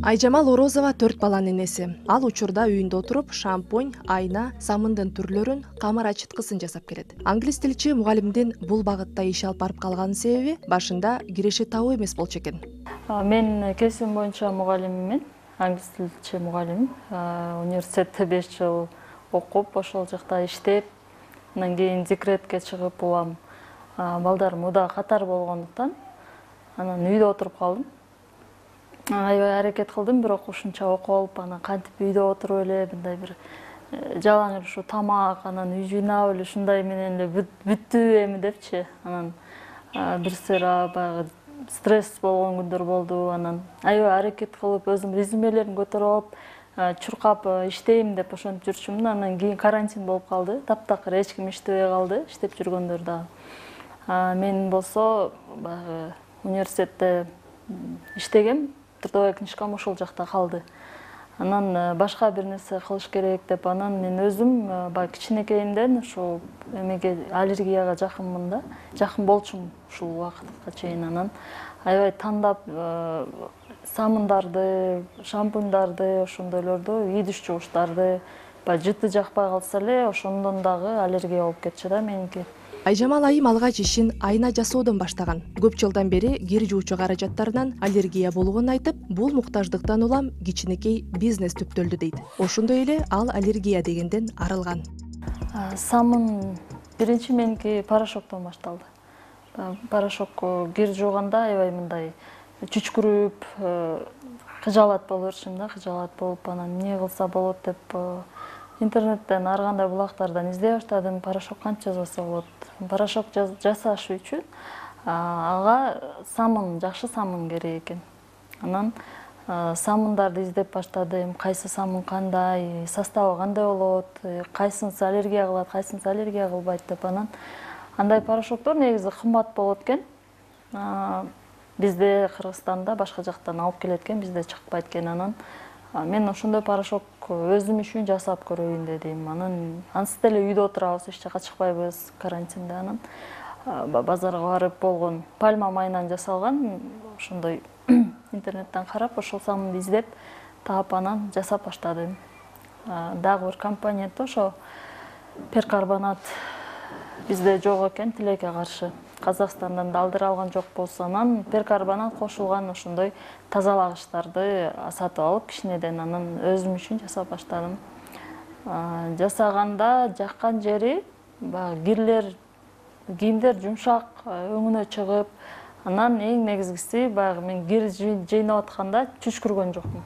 Айжамал Орозова 4 баланын энеси. Ал учурда үйүндө отуруп шампунь, айна, самындын түрлөрүн, камар ачыткысын жасап келет. Англис тилчи мугалимдин бул багытта иш алып барып калганын себеби башында киреши табуу эмес болчу экен. Мен кесибим боюнча мугалиммин, англис тилчи мугалим. Университетте 5 жыл окуп, ошол жакта иштеп, андан кийин декретке чыгып улам. Балдарым уда катар болгондуктан анан үйдө отуруп калдым. Аябай аракет кылдым, бирок ушунча окуп алып, анан кантип үйдө отуруп эле мындай бир жалаң эле ушу тамак, анан үй жыйнап эле ушундай менен эле бүттү эми депчи. Анан бир сыйра баягы стресс болгон күндөр болду. Анан аябай аракет кылып, өзүм резюмелерин көтөрүп алып, чуркап иштейм деп ошентип жүрчүмүн. Анан кийин карантин болуп калды. Таптакыр эч ким иштебей калды, иштеп жүргөндөр дагы. Мен болсо баягы университетте иштегем. Трудовая книжкам ошол жакта калды. Анан башка бир нерсе кылыш керек деп, анан мен өзүм баягы кичинекейимден ушул эмеге аллергияга жакынмын да, жакын болчумун ушул убакытка чейин. Анан аябай тандап самындарды, шампуньдарды, ошондойлорду, идиш жугучтарды, баягы жыты жакпай калса эле ошондон дагы аллергия болуп кетчү да меники. Айжамал айым алгач ишин айна жасоодон баштаган. Көп жылдан бери кир жуучу каражаттарынан аллергия болгонун айтып, бул муктаждыктан улам кичинекей бизнес түптөлдү дейт. Ошондой эле ал аллергия дегенден арылган. Самын биринчи меники порошоктон башталды. Порошок кир жууганда аябай мындай чүчкүрүп, кыжаалат боло берчүмүн да, кыжаалат болуп, анан эмне кылса болот деп интернеттен ар кандай булактардан издей баштадым. Порошок канча жасаса болот? Порошок жасаш үчүн ага самын, жакшы самын керек экен. Анан самындарды издеп баштадым. Кайсы самын кандай, составы кандай болот, кайсынысы аллергия кылат, кайсынысы аллергия кылбайт деп. Анан андай порошоктор негизи кымбат болот экен. Бизде Кыргызстанда башка жактан алып келет экен, бизде чыкпайт экен. Анан мен ошондой порошок өзүм үчүн жасап көрөйүн дедим. Анан ансыз деле үйдө отурабыз, эч жака чыкпайбыз карантинде. Анан базарга барып болгон пальма майынан жасалган ошондой интернеттен карап, ошол самынды издеп таап, анан жасап баштадым. Дагы бир компоненти ошо перкарбонат бизде жок экен, тилекке каршы. Казакстандан да алдыра алган жокпуз. Анан перкарбонат кошулган ошондой тазалагычтарды сатып алып кичинеден анан өзүм үчүн жасап баштадым. Жасаганда жаккан жери баягы кирлер, кийимдер жумшак, өңүнө чыгып, анан эң негизгиси баягы мен кир жыйнап атканда чүчкүргөн жокмун.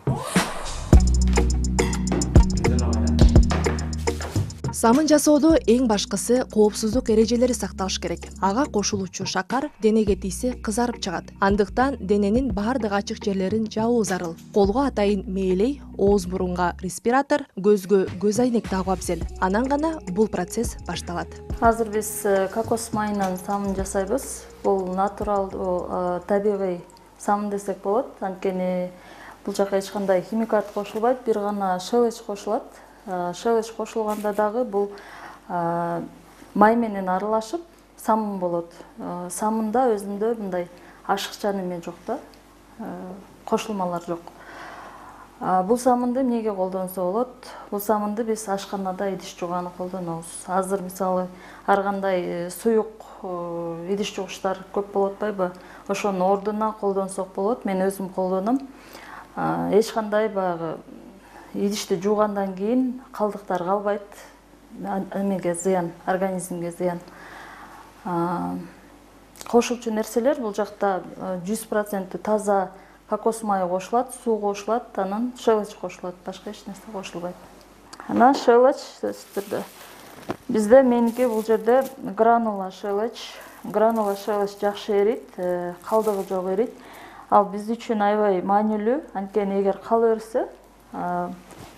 Самын жасоодо эң башкысы коопсуздук эрежелери сакталыш керек. Ага кошулуучу шакар денеге тийсе кызарып чыгат. Андыктан дененин баардык ачык жерлерин жабуу зарыл. Колго атайын мээлей, ооз бурунга респиратор, көзгө көз айнек тагуу абзел. Анан гана бул процесс башталат. Азыр биз кокос майынан самын жасайбыз. Бул натурал, табигый самын десек болот. Анткени бул жака эч кандай химикат кошулбайт, бир гана шелеч кошулат. Шелеч кошулганда дагы бул май менен аралашып самын болот. Самында өзүндө мындай ашыкча неме жок да, кошулмалар жок. Бул самынды эмнеге колдонсо болот? Бул самынды биз ашканада идиш жууганы колдонобуз. Азыр мисалы ар кандай суюк идиш жугучтар көп болуп атпайбы? Ошонун ордуна колдонсок болот. Мен өзүм колдоном. Эч кандай баягы идишти жуугандан кийин калдыктар калбайт, эмеге зыян, организмге зыян. Кошулчу нерселер бул жакта 100% таза кокос майы кошулат, суу кошулат, анан шелеч кошулат, башка эч нерсе кошулбайт. Анан шелеч бизде меники бул жерде гранула шелеч. Гранула шелеч жакшы эрийт, калдыгы жок эрийт. Ал биз үчүн аябай маанилүү, анткени эгер кала берсе,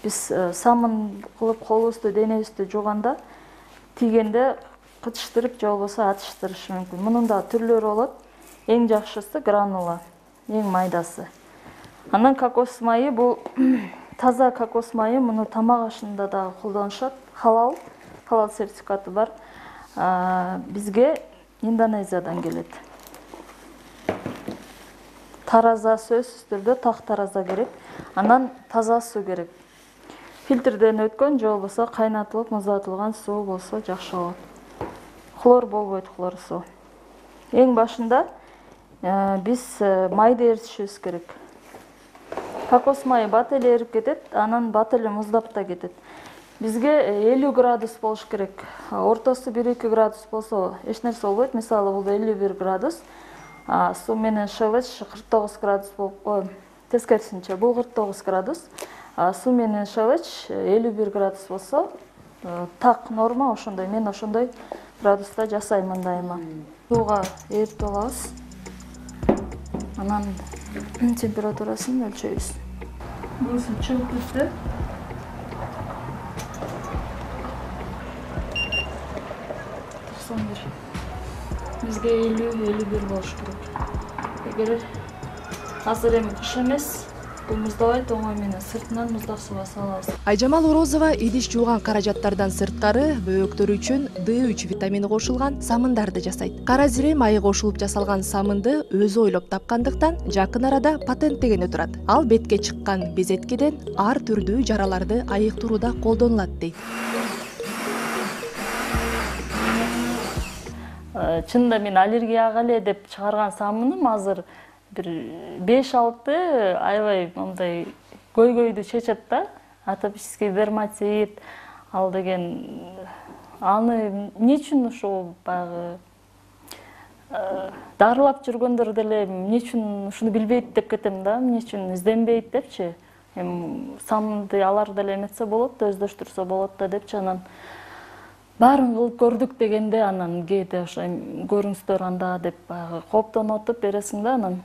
биз самын кылып колубузду, денебизди жууганда тийгенде кытыштырып же болбосо атыштырышы мүмкүн. Мунун да түрлөрү болот. Эң жакшысы гранула, эң майдасы. Анан кокос майы бул таза кокос майы, муну тамак ашында да колдонушат. Халал сертификаты бар. Бизге Индонезиядан келет. тараза, сөзсүз түрдө так тараза керек. Анан таза суу керек. Фильтрден өткөн же болбосо кайнатылып муздатылган суу болсо жакшы болот. Хлор болбойт, хлор суу. Эң башында биз майды эритишибиз керек. Кокос майы бат эле эрип кетет, анан бат эле муздап да кетет. Бизге 50 градус болуш керек. Ортосу 1-2 градус болсо эч нерсе болбойт. Мисалы, бул 51 градус. Суу менен шелеч 49 градус болуп, тескерисинче бул 49 градус. Суу менен шелеч 51 градус болсо так норма ошондой. Мен ошондой градуста жасаймын дайыма. Сууга эритип алабыз. Анан температурасын өлчөйбүз. Бул суу чыгып кетти. Бизге 50-51 болуш керек. Эгер азыр эми кыш эмес, бул муздабайт, оңой менен сыртынан муздак сууга салабыз. Айжамал Орозова идиш жууган каражаттардан сырткары бөөктөр үчүн D3 витамини кошулган самындарды жасайт. Кара зире майы кошулуп жасалган самынды өзү ойлоп тапкандыктан жакын арада патенттегени турат. Ал бетке чыккан безеткеден ар түрдүү жараларды айыктырууда колдонулат дейт. Чынында мен аллергияга эле деп чыгарган самыным азыр бир 5-6 аябай мындай көйгөйдү чечет да. Атопический дерматит, ал деген аны эмне үчүн ошол баягы дарылап жүргөндөр деле эмне үчүн ушуну билбейт деп кетем да, эмне үчүн изденбейт депчи. Эми самынды алар деле эметсе болот да, өздөштүрсө болот да депчи. Анан баарын кылып көрдүк дегенде анан кээде ошо көрүңүздөр анда деп баягы кооптонуп бересиң да. Анан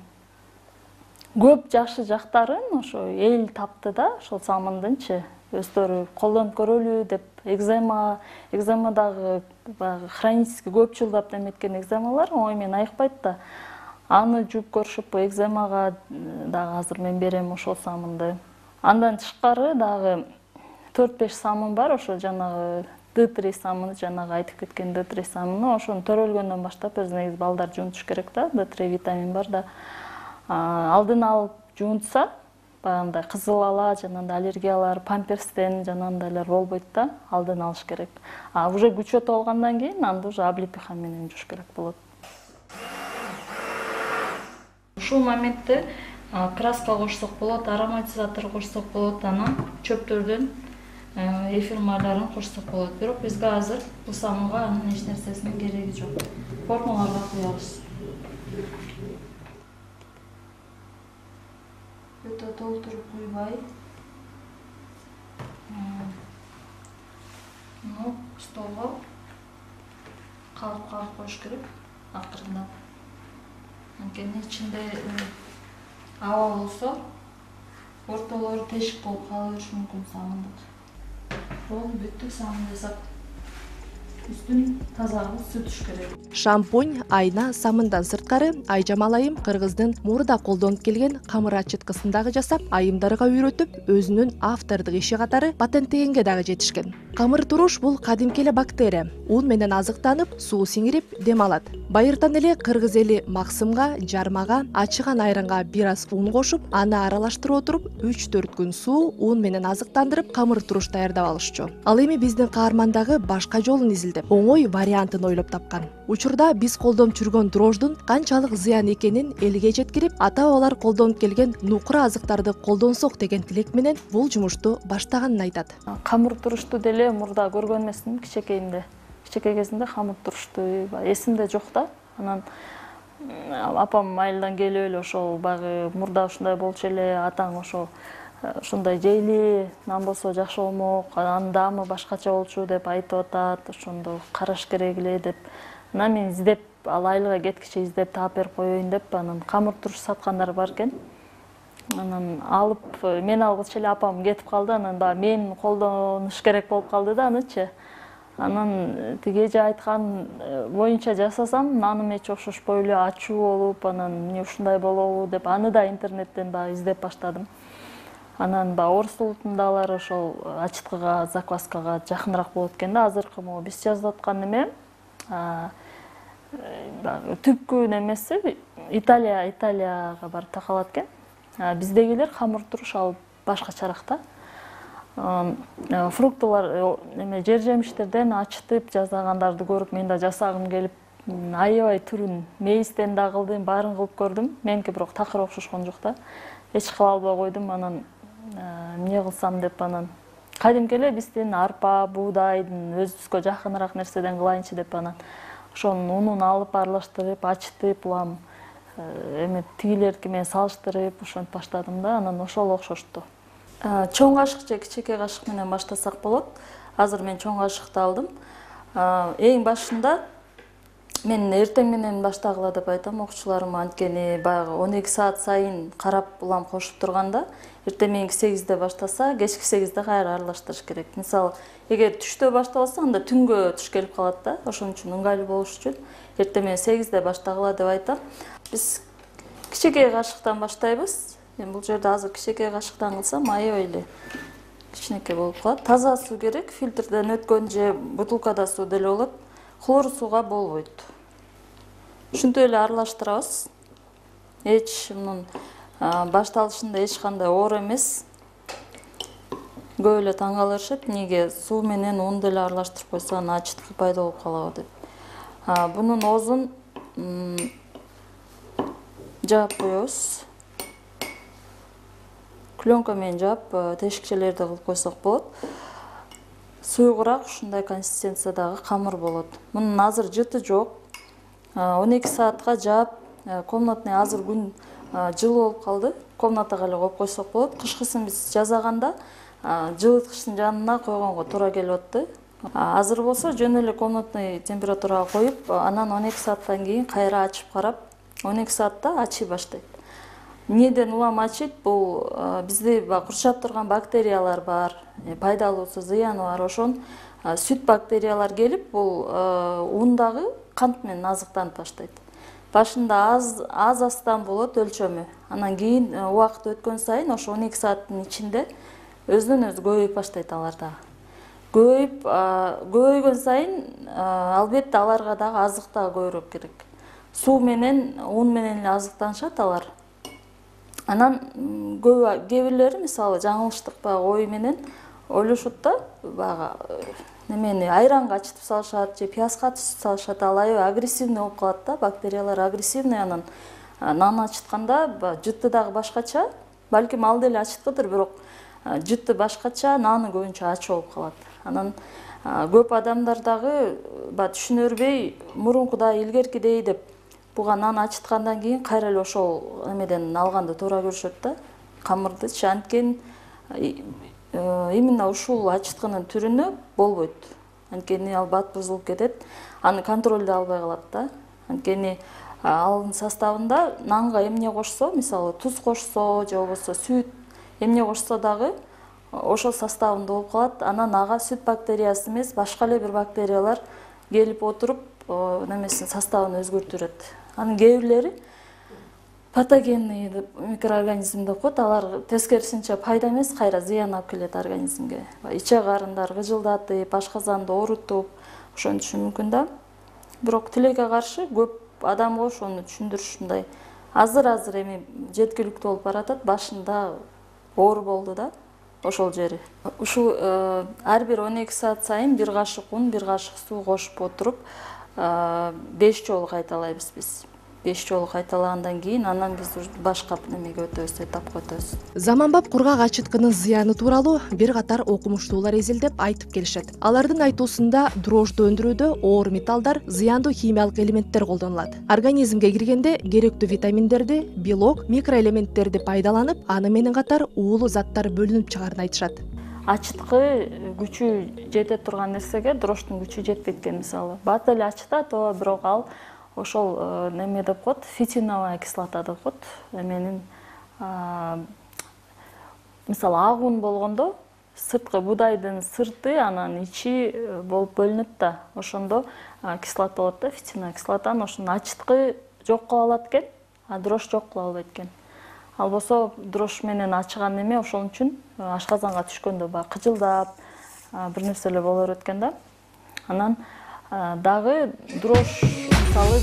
көп жакшы жактарын ошо эл тапты да, ошол самындынчы. Өздөрү колдонуп көрөлү деп экземадагы баягы хронический көп жылдап эметкен экземалар оңой менен айыкпайт да. Аны жууп көрүшүп, экземага дагы азыр мен берем ошол самынды. Андан тышкары дагы 4-5 самын бар, ошо жанагы D3 самыны, жанагы айтып кеткен D3 самыны, ошону төрөлгөндөн баштап өзү негизи балдар жуунтуш керек да. D3 витамин бар да. Алдын алып жуунтса, баягындай кызыл ала, жанагындай аллергиялар, памперстен жанагындайлар болбойт да, алдын алыш керек. Уже күчөтүп алгандан кийин анда уже облепиха менен жууш керек болот. Ушул моментте краска кошсок болот, ароматизатор кошсок болот, анан чөптөрдөн эфир майларын кошсок болот. Бирок бизге азыр бул самынга анын эч нерсесинин кереги жок. Формаларга куябыз. Өтө толтуруп куйбай. Столго калып коюш керек акырындап. Анткени ичинде аба болсо, ортолору тешик болуп кала бериши мүмкүн самындык. Болду, бүттүк самын жасап. Үстүн таза кылып сүртүш керек. Шампунь, айна, самындан сырткары Айжамал айым кыргыздын мурда колдонуп келген камыр ачыткысын дагы жасап, айымдарга үйрөтүп, өзүнүн автордук иши катары патенттегенге дагы жетишкен. Камыр туруш бул кадимки эле бактерия. Ун менен азыктанып, суу сиңирип, дем алат. Байыртан эле кыргыз эли максымга, жармага, ачыган айранга бир аз ун кошуп, аны аралаштырып отуруп, 3-4 күн суу, ун менен азыктандырып, камыр туруш даярдап алышчу. Ал эми биздин каарман дагы башка жолун изилдеп, оңой вариантын ойлоп тапкан. Учурда биз колдонуп жүргөн дрождун канчалык зыян экенин элге жеткирип, ата-бабалар колдонуп келген нукура азыктарды колдонсок деген тилек менен бул жумушту баштаганын айтат. Камыр турушту деле мурда көргөн эмесмин кичекейимде. Кичекей кезинде камыр турушту эсимде жок да. Анан апам айылдан келип эле ошол баягы мурда ушундай болчу эле, атаң ошол ушундай жейли, нан болсо жакшы болмок, анын даамы башкача болчу деп айтып атат, ошондо караш керек эле деп. Анан мен издеп, ал айылга кеткиче издеп таап берип коеюн деп, анан камыр туруш саткандар бар экен. Анан алып, мен алгыча эле апам кетип калды, анан баягы мен колдонуш керек болуп калды да анычы. Анан тиги эже айткан боюнча жасасам, наным эч окшошпой эле ачуу болуп, анан эмне ушундай болобу деп, аны да интернеттен баягы издеп баштадым. Анан баягы орус улутундагылар ошол ачыткыга, закваскага жакыныраак болот экен да. Азыркы могу биз жазып аткан эме түпкү немеси Италияга барып такалат экен. Биздегилер хамыр туруш ал башкачараак да. Фруктылар жер жемиштерден ачытып жасагандарды көрүп мен да жасагым келип, аябай түрүн мейистен да кылдым, баарын кылып көрдүм. Меники бирок такыр окшошкон жок да. Эч кыла албай койдум. Анан эмне кылсам деп анан кадимки эле биздин арпа, буудайдын өзүбүзгө жакыныраак нерседен кылайынчы деп анан ошонун унун алып аралаштырып, ачытып, улам тигилерки менен салыштырып ошентип баштадым да. Анан ошол окшошту. Чоң кашык же кичинекей кашык менен баштасак болот. Азыр мен чоң кашыкты алдым. Эң башында мен эртең менен баштагыла деп айтам окуучуларыма, анткени баягы 12 саат сайын карап улам кошуп турганда, эртең мененки 8-де баштаса, кечки 8-де кайра аралаштырыш керек. Мисалы, эгер түштө башталса, анда түнгө туш келип калат да. Ошон үчүн ыңгайлуу болуш үчүн эртең менен 8-де баштагыла деп айтам. Биз кичинекей кашыктан баштайбыз. Мен бул жерде азыр кичинекей кашыктан кылсам, аябай эле кичинекей болуп калат. Таза суу керек, фильтрден өткөн же бутылкада суу деле болот. Хлор сууга болбойт. Ушинтип эле аралаштырабыз. Эч мунун башталышында эч кандай оор эмес. Көп эле таң калышат, эмнеге суу менен ун деле аралаштырып койсо анан ачыткы пайда болуп калабы деп. Бунун оозун жаап коебуз. Клёнка менен жаап, тешикчелерди кылып койсок болот. Суйгураак ушундай консистенциядагы камыр болот. Мунун азыр жыты жок. 12 саатка жаап, комнатный азыр күн жылуу болуп калды. Комнатага эле коюп койсок болот. Кышкысын биз жазаганда жылыткычтын жанына койгонго туура келип атты. Азыр болсо жөн эле комнатный температурага коюп, анан 12 сааттан кийин кайра ачып карап, 12 саатта ачый баштайт. Эмнеден улам ачыйт? Бул бизди курчап турган бактериялар бар, пайдалуусу, зыяны бар. Ошон сүт бактериялар келип, бул ундагы кант менен азыктанып баштайт. Башында аз астан болот өлчөмү. Анан кийин убакыт өткөн сайын ошо 12 сааттын ичинде өзүнөн өзү көбөйүп баштайт алар дагы. Көбөйгөн сайын албетте аларга дагы азык дагы көбүрөөк керек. Суу менен, ун менен эле азыктанышат алар. Анан кээ бирлери мисалы жаңылыштык баягы ой менен ойлошот да, баягы немени айранга ачытып салышат же пиязга ачытып салышат. Ал аябай агрессивный болуп калат да, бактериялар агрессивный. Анан нан ачытканда жыты дагы башкача, балким ал деле ачыткыдыр, бирок жыты башкача, наны көбүнчө ачы болуп калат. Анан көп адамдар дагы түшүнө бербей, мурункудай, илгеркидей деп буга нан ачыткандан кийин кайра эле ошол эмеден алганды туура көрүшөт да, камырдычы. Анткени именно ушул ачыткынын түрүнө болбойт. Анткени ал бат бузулуп кетет, аны контролдой албай калат да. Анткени алын составында нанга эмне кошсо, мисалы туз кошсо же болбосо сүт эмне кошсо дагы ошол составында болуп калат. Анан ага сүт бактериясы эмес, башка эле бир бактериялар келип отуруп, немесин составын өзгөртүрөт. Анын кээ бирлери патогенный микроорганизм деп коет. Алар тескерисинче пайда эмес, кайра зыян алып келет организмге. Иче карындар гыжылдатып, ашказанды оорутуп, ошентиши мүмкүн да. Бирок тилекке каршы көп адамга ошону түшүндүрүш мындай азыр эми жеткиликтүү болуп баратат. Башында оор болду да ошол жери. Ушул ар бир 12 саат сайын бир кашык ун, бир кашык суу кошуп отуруп 5 жолу кайталайбыз биз. 5 жолу кайталагандан кийин анан биз башка немеге өтөбүз, этапка өтөбүз. Заманбап кургак ачыткынын зыяны тууралуу бир катар окумуштуулар изилдеп айтып келишет. Алардын айтуусунда дрожжду өндүрүүдө оор металлдар, зыяндуу химиялык элементтер колдонулат. Организмге киргенде керектүү витаминдерди, белок, микроэлементтерди пайдаланып, аны менен катар уулуу заттар бөлүнүп чыгаарын айтышат. Ачыткы күчү жете турган нерсеге дрожждун күчү жетпейт экен. Мисалы, бат эле ачытат, бирок ал ошол неме деп коет, фитиновая кислота деп коет. Эменин мисалы ак ун болгондо сырткы буудайдын сырты анан ичи болуп бөлүнөт да. Ошондо кислота болот да, фитиновая кислотаны. Ошонун ачыткы жок кыла алат экен, а дрожж жок кыла албайт экен. Ал болсо дрожж менен ачыган неме ошон үчүн ашказанга түшкөндө баягы кыжылдап бир нерселер боло берет экен да. Анан дагы дрожж мисалы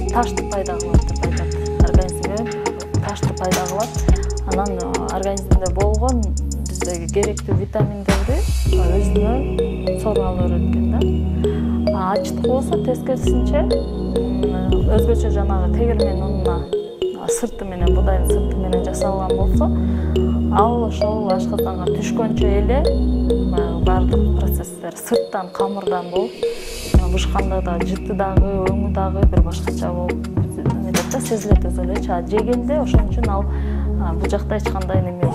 ташты пайда кылат деп айтат ташты пайда кылат. Анан организмде болгон биздеги керектүү витаминдерди өзүнө сору ала берет экен да. Ачыткы болсо тескерисинче өзгөчө жанагы тегирмен унуна сырты менен, будайдын сырты менен жасалган болсо, ал ошол ашказанга түшкөнчө эле баардык процесстер сырттан, камырдан болуп, бышканда да, жыты дагы, өңү дагы бир башкача болуп сезилет өзү элечи. Жегенде ошон үчүн ал бул жакта эч кандай неме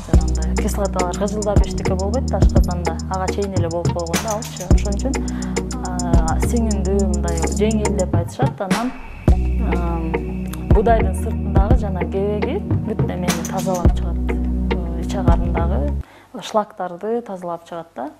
жанагындай кислоталар кыжылдап эчтеке болбойт да ашказанда. Ага чейин эле болуп койгон да алчы. Ошон үчүн сиңиндүү мындай жеңил деп айтышат. Анан будайдын сыртындагы жана кебеги бүт немени тазалап чыгат. Ич агарындагы шлактарды тазалап чыгат да.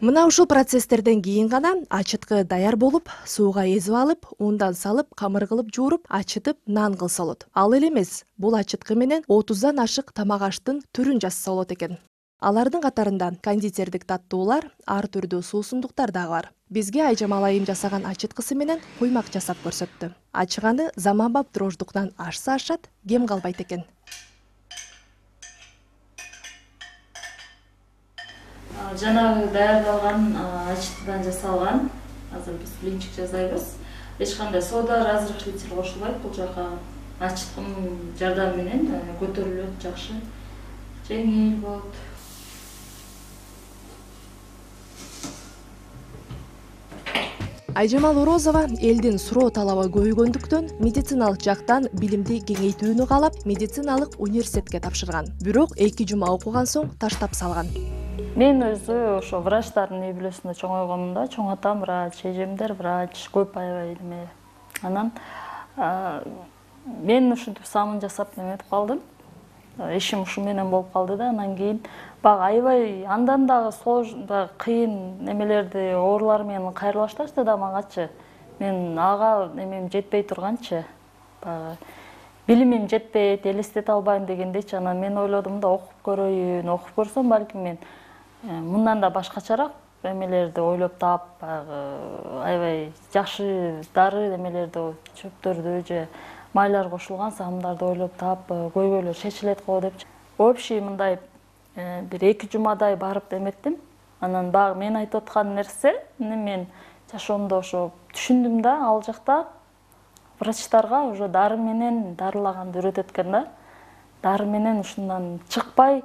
Мына ушул процесстерден кийин гана ачыткы даяр болуп, сууга эзип алып, ундан салып, камыр кылып жууруп, ачытып, нан кылса болот. Ал эле эмес, бул ачыткы менен 30дан ашык тамак аштын түрүн жасаса болот экен. Алардын катарында кондитердик таттуулар, ар түрдүү суусундуктар дагы бар. Бизге Айжамал айым жасаган ачыткысы менен куймак жасап көрсөттү. Ачыганы заманбап дрождуктан ашса ашат, кем калбайт экен. Жанагы даярдалган ачыткыдан жасалган, азыр биз блинчик жасайбыз. Эч кандай сода, разрыхлитель кошулбайт. Бул жака ачыткынын жардамы менен көтөрүлөт, жакшы, жеңил болот. Айжамал Орозова элдин суроо талабы көбөйгөндүктөн медициналык жактан билимди кеңейтүүнү каалап, медициналык университетке тапшырган. Бирок 2 жума окуган соң таштап салган. Мен өзү ошо врачтардын үй бүлөсүндө чоңойгонмун да, чоң атам врач, эжемдер врач, көп аябай эме. Анан мен ушинтип самын жасап неметип калдым. Ишим ушу менен болуп калды да. Анан кийин баягы аябай андан дагы кыйын немелерди, оорулар менен кайрыла башташты да мангачы. Мен ага немем жетпей турганчы. Баягы билимим жетпейт, элестете албайм дегендейчи. Анан мен ойлодум да окуп көрөйүн, окуп көрсөм балким мен мындан да башкачараак эмелерди ойлоп таап, баягы аябай жакшы дары эмелерди, чөптөрдү же майлар кошулган самындарды ойлоп таап көйгөйлөр чечилет го депчи. Общий мындай бир 2 жумадай барып эметтим. Анан баягы мен айтып аткан нерсе мен жашоомдо ошо түшүндүм да, ал жакта врачтарга уже дары менен дарылаганды үйрөтөт экен да. Дары менен ушундан чыкпай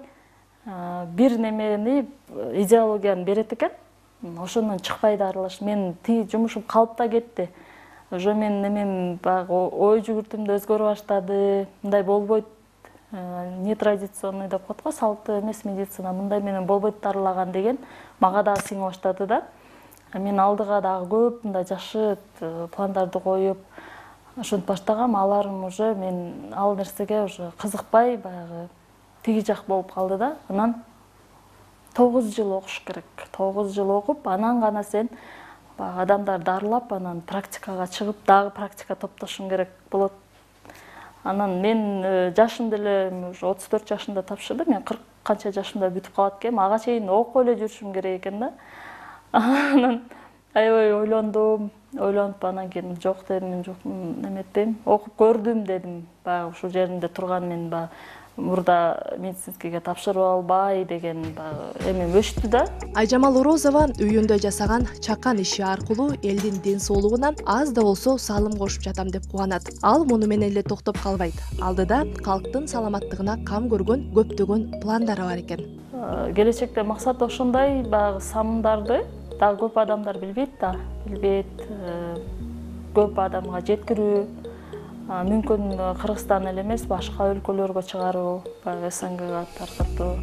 бир немени идеологияны берет экен. Ошондон чыкпай дарылаш. Мен тиги жумушум калып да кетти. Уже мен немем баягы ой жүгүртүм да өзгөрө баштады. Мындай болбойт. Нетрадиционный деп коет го, салттуу эмес медицина. Мындай менен болбойт дарылаган деген мага дагы сиңип баштады да. Мен алдыга дагы көп мындай жакшы пландарды коюп ошентип баштагам. Аларым уже мен ал нерсеге уже кызыкпай баягы тиги жак болуп калды да. Анан 9 жыл окуш керек. 9 жыл окуп, анан гана сен адамдар дарылап, анан практикага чыгып, дагы практика топтошуң керек болот. Анан мен жашым деле уже 34 жашымда тапшырдым. Мен 40 канча жашымда бүтүп калат экенмин. Ага чейин окуп эле жүрүшүм керек экен да. Анан аябай ойлондум. Ойлонуп анан кийин жок дедим, мен жок неметпейм. Окуп көрдүм дедим. Баягы ушул жеринде турган мен баягы мурда медицинскийге тапшырып албай деген эмем өчтү да. Айжамал Орозова үйүндө жасаган чакан иши аркылуу элдин ден соолугуна аз да болсо салым кошуп жатам деп кубанат. Ал муну менен эле токтоп калбайт. Алдыда калктын саламаттыгына кам көргөн көптөгөн пландары бар экен. Келечекте максат ошондой, баягы самындарды дагы көп адамдар билбейт да, көп адамга жеткирүү, мүмкүн Кыргызстан эле эмес, башка өлкөлөргө чыгаруу, СНГга таркатуу.